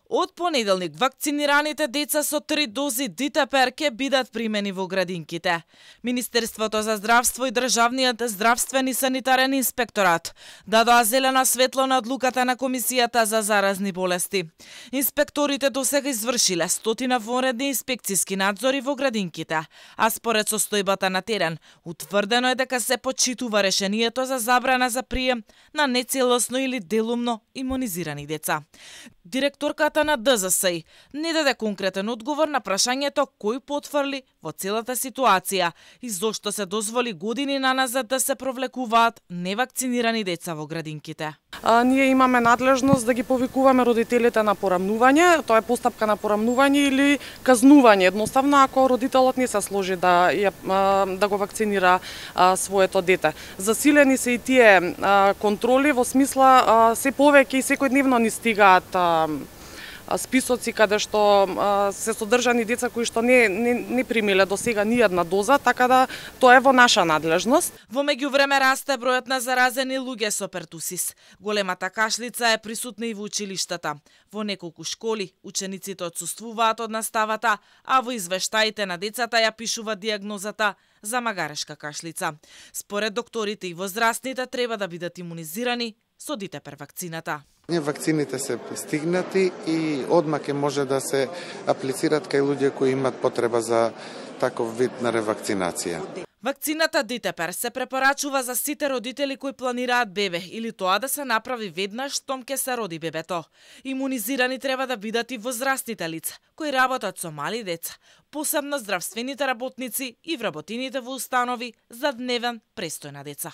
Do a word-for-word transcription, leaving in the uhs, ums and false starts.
Од понеделник вакцинираните деца со три дози Дитепер ќе бидат примени во градинките. Министерството за здравство и Државниот здравствен и санитарен инспекторат дадоа зелена светло на одлуката на Комисијата за заразни болести. Инспекторите досега извршиле стотина вонредни инспекциски надзори во градинките, а според состојбата на терен, утврдено е дека се почитува решението за забрана за прием на нецелосно или делумно имунизирани деца. Директорката на Д З С не даде конкретен одговор на прашањето кој потврли во целата ситуација и зошто се дозволи години наназад да се провлекуваат невакцинирани деца во градинките. А, ние имаме надлежност да ги повикуваме родителите на порамнување, тоа е постапка на порамнување или казнување, едноставно ако родителот не се сложи да ја, да го вакцинира а, своето дете. Засилени се и тие а, контроли во смисла а, се повеќе и секојдневно ни стигаат а, списоци каде што а, се содржани деца кои што не, не, не примиле до сега ни една доза, така да тоа е во наша надлежност. Во меѓувреме расте бројот на заразени луѓе со пертусис. Големата кашлица е присутна и во училиштата. Во неколку школи учениците отсуствуваат од наставата, а во извештаите на децата ја пишуваат диагнозата за магарешка кашлица. Според докторите и возрастните треба да бидат имунизирани со Дитепер вакцината. Вакцините се стигнати и одма ќе може да се аплицираат кај луѓе кои имат потреба за таков вид на ревакцинација. Вакцината Дитепер се препорачува за сите родители кои планираат бебе или тоа да се направи веднаш штом ќе се роди бебето. Имунизирани треба да бидат и возрастните лица кои работат со мали деца, посебно здравствените работници и вработените во установи за дневен престој на деца.